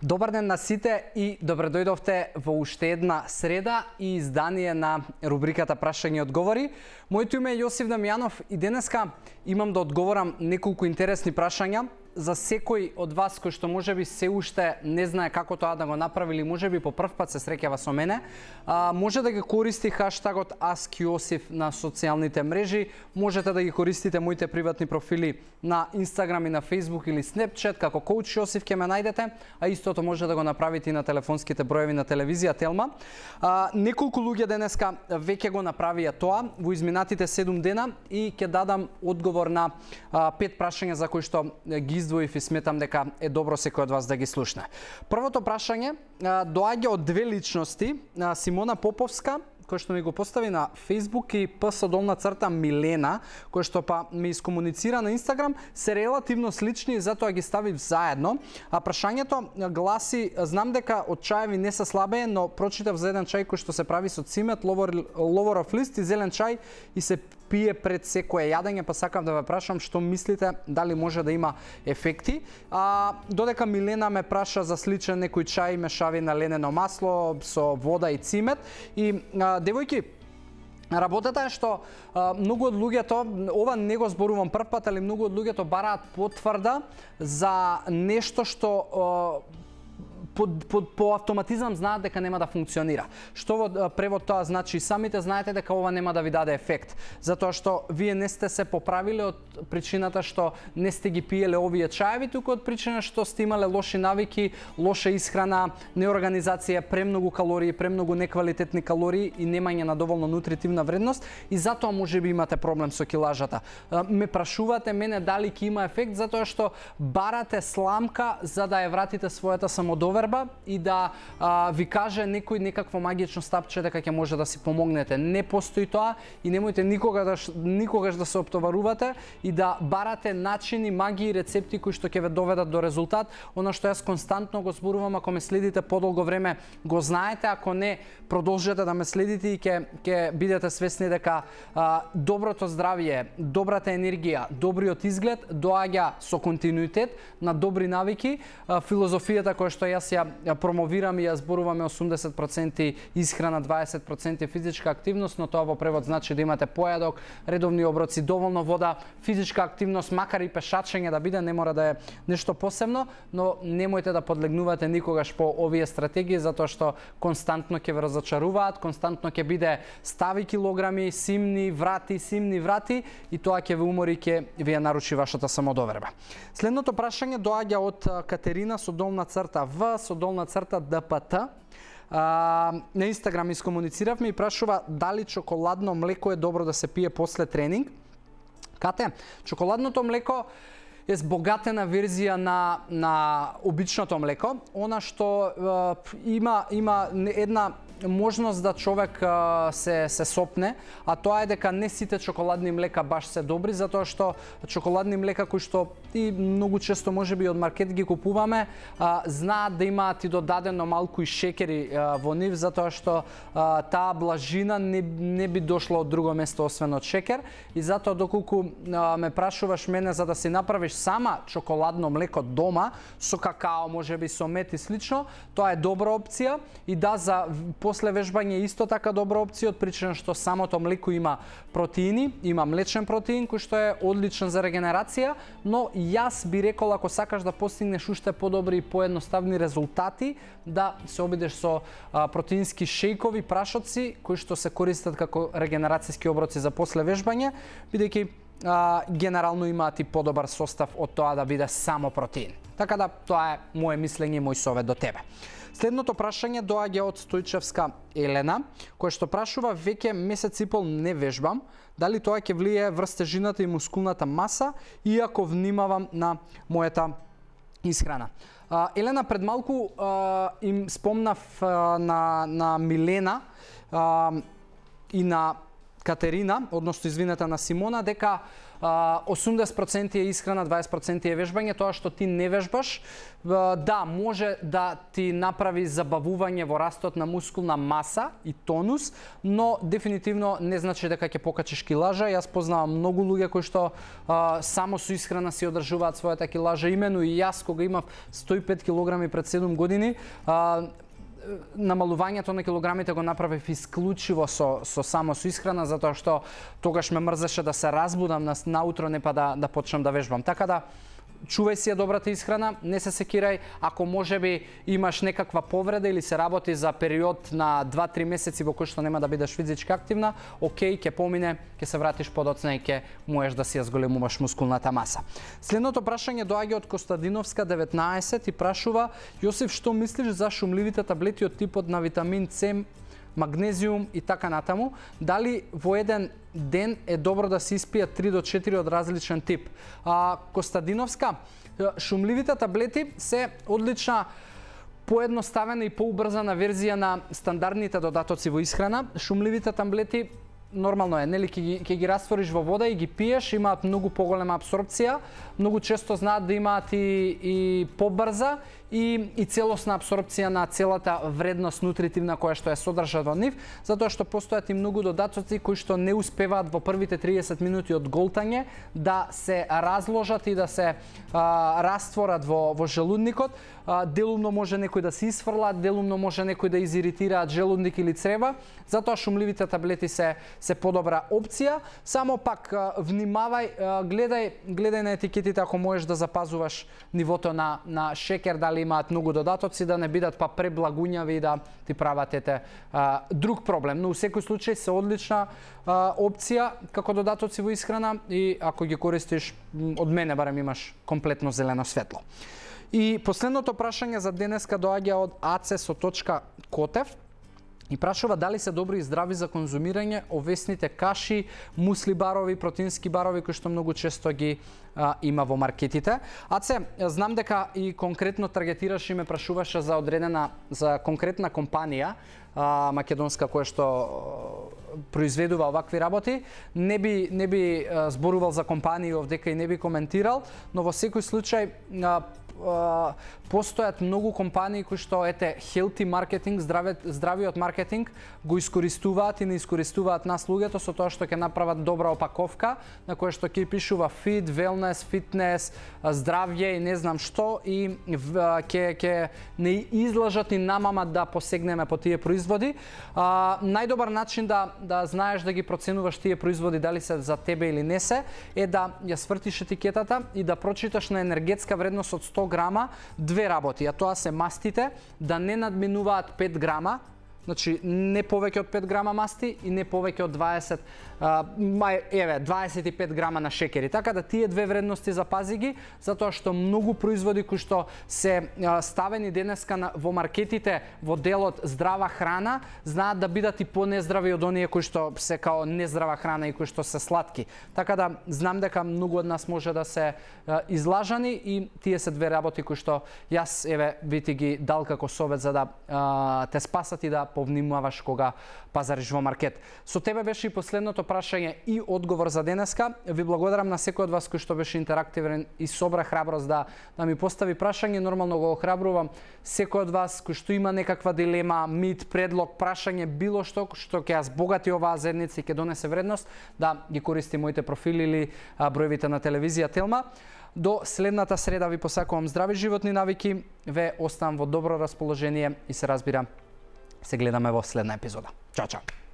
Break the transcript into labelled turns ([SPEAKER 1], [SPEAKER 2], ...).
[SPEAKER 1] Добар ден на сите и добре дојдовте во уште една среда и издание на рубриката Прашања и одговори. Моето име е Јосиф Дамјанов и денеска имам да одговорам неколку интересни прашања за секој од вас кој што можеби се уште не знае како тоа да го направи или можеби по прв пат се среќава со мене. Може да ги користи хаштагот AskJosif на социјалните мрежи, можете да ги користите моите приватни профили на Instagram и на Facebook или Snapchat како Коуч Јосиф ќе ме најдете, а истото може да го направите и на телефонските броеви на телевизија Телма. Неколку луѓе денеска веќе го направија тоа во изминатите 7 дена и ќе дадам одговор на 5 прашања за кои што ги издвоив и сметам дека е добро секој од вас да ги слушне. Првото прашање доаѓа од две личности, Симона Поповска, кој што ми го постави на Facebook, и _Милена, кој што па ми искомуницира на Instagram, се релативно слични и затоа ги ставив заедно. А прашањето гласи: знам дека од чаеви не се слабее, но прочитав за еден чај кој што се прави со цимет, ловоров лист и зелен чај и се пие пред секое јадење, па сакам да ве прашам што мислите, дали може да има ефекти. Додека Милена ме праша за сличен некој чај мешавина ленено масло со вода и цимет. И девојки, работата е што многу од луѓето, ова не го зборувам прв пат, али многу од луѓето бараат потврда за нешто што по автоматизам знаат дека нема да функционира. Што во превод тоа значи? Самите знаете дека ова нема да ви даде ефект, затоа што вие не сте се поправиле од причината што не сте ги пиеле овие чаеви, туку од причина што сте имале лоши навики, лоша исхрана, неорганизација, премногу калории, премногу неквалитетни калории и немање на доволно нутритивна вредност, и затоа можеби имате проблем со килажата. Ме прашувате мене дали ќе има ефект, затоа што барате сламка за да ја вратите својата самодоверба и да ви каже некој некакво магично стапче дека ќе може да си помогнете. Не постои тоа и немојте никогаш да се оптоварувате и да барате начини, магии, рецепти кои што ќе ве доведат до резултат. Она што јас константно го зборувам, ако ме следите подолго време, го знаете, ако не, продолжете да ме следите и ќе бидете свесни дека доброто здравје, добрата енергија, добриот изглед доаѓа со континуитет на добри навики. Филозофијата која што јас ја промовирам и ја зборуваме 80% исхрана, 20% физичка активност, но тоа во превод значи да имате појадок, редовни оброци, доволно вода, физичка активност, макар и пешачење да биде, не мора да е нешто посебно, но немојте да подлегнувате никогаш по овие стратегии, затоа што константно ќе ве разочаруваат, константно ќе биде стави килограми, симни врати и тоа ќе ве умори, ќе ви ја наруши вашата самодоверба. Следното прашање доаѓа од Катерина _ДПТ. На Инстаграм искомунициравме и прашува дали чоколадно млеко е добро да се пие после тренинг. Кате, чоколадното млеко е збогатена верзија на обичното млеко, она што има една можност да човек се сопне, а тоа е дека не сите чоколадни млека баш се добри, затоа што чоколадни млека кои што и многу често можеби од маркет ги купуваме, знаат да имаат и додадено малку и шекери во нив, затоа што таа блажина не би дошла од друго место освен од шекер, и затоа доколку ме прашуваш мене за да си направиш сама чоколадно млеко дома со какао, можеби со мед и слично, тоа е добра опција, и да, за после вежбање исто така добра опција од причина што самото млеко има протеини, има млечен протеин кој што е одличен за регенерација, но јас би рекол ако сакаш да постигнеш уште подобри и поедноставни резултати, да се обидеш со протеински шејкови, прашоци кои што се користат како регенерацијски оброци за после вежбање, бидејќи генерално имаат и подобар состав од тоа да биде само протеин. Така да тоа е моje мислење и мој совет до тебе. Следното прашање доаѓа од Стојчевска Елена, која што прашува: веќе месец и пол не вежбам, дали тоа ќе влијае врз тежината и мускулната маса, иако внимавам на мојата исхрана? Елена, пред малку им спомнав на Милена и на Катерина, односно извинете на Симона, дека 80% е исхрана, 20% е вежбање, тоа што ти не вежбаш, да, може да ти направи забавување во растот на мускулна маса и тонус, но дефинитивно не значи дека ќе покачиш килажа. Јас познавам многу луѓе кои што само со исхрана си одржуваат својата килажа, имено и јас кога имав 105 килограми пред 7 години, намалувањето на килограмите го направив исклучиво со само со исхрана, затоа што тогаш ме мрзеше да се разбудам наутро, не па да почнам да вежбам. Така да чувај си ја добрата исхрана, не се секирај, ако можеби имаш некаква повреда или се работи за период на 2-3 месеци во кој што нема да бидеш физички активна, окей, ќе помине, ќе се вратиш подоцна и ќе можеш да си ја зголемуваш мускулната маса. Следното прашање доаѓа од Костадиновска 19 и прашува: Јосиф, што мислиш за шумливите таблети од типот на витамин С, магнезиум и така натаму? Дали во еден ден е добро да се испијат 3 до 4 од различен тип? Костадиновска, шумливите таблети се одлична поедноставена и поубрзана верзија на стандардните додатоци во исхрана. Шумливите таблети нормално е, нели, ќе ги раствориш во вода и ги пиеш, имаат многу поголема апсорбција, многу често знаат да имаат и побрза и целосна апсорбција на целата вредност нутритивна која што е содржа во нив, затоа што постојат и многу додатоци кои што не успеваат во првите 30 минути од голтање да се разложат и да се растворат во желудникот. Делумно може некој да се исфрлат, делумно може некој да изиритираат желудник или црева, затоа шумливите таблети се подобра опција. Само пак внимавај, гледај на етикетите ако можеш да запазуваш нивото на шекер, дали имаат многу додатоци, да не бидат па преблагуњави и да ти прават друг проблем. Но у секој случај се одлична опција како додатоци во исхрана и ако ги користиш, од мене барем имаш комплетно зелено светло. И последното прашање за денеска доаѓа од aces.котев и прашува дали се добри и здрави за конзумирање овесните каши, мусли барови, протеински барови кои што многу често ги има во маркетите. Аце, знам дека и конкретно таргетираш и ме прашуваше за конкретна компанија македонска која што произведува овакви работи. Не би зборувал за компании овдека и не би коментирал, но во секој случај постојат многу компании кои што healthy маркетинг, здравиот маркетинг го искористуваат и не искористуваат нас луѓето со тоа што ќе направат добра опаковка на која што ќе пишува fit, wellness, fitness, здравје и не знам што, и ќе не излажат и намамат да посегнеме по тие производи. Најдобар начин да знаеш да ги проценуваш тие производи дали се за тебе или не се е да ја свртиш етикетата и да прочиташ на енергетска вредност од 100 грама две работи, а тоа се мастите да не надминуваат 5 грама, значи не повеќе од 5 грама масти и не повеќе од 25 грама на шекери. Така да тие две вредности запази ги, затоа што многу производи кои што се ставени денеска во маркетите во делот здрава храна, знаат да бидат и понездрави од оние кои што се као нездрава храна и кои што се сладки. Така да знам дека многу од нас може да се излажани и тие се две работи кои што јас би ти ги дал како совет за да те спасат и да повнимаваш кога пазариш во маркет. Со тебе беше и последното прашање и одговор за денеска. Ви благодарам на секој од вас кој што беше интерактивен и собра храброст да ми постави прашање. Нормално го охрабрувам секој од вас кој што има некаква дилема, мит, предлог, прашање, било што ќе ја збогати оваа заедница и ќе донесе вредност, да ги користи моите профили или броевите на телевизија Телма. До следната среда ви посакувам здрави животни навики, ве оставам во добро расположение и се разбира, се гледаме во следна епизода. Чао, чао!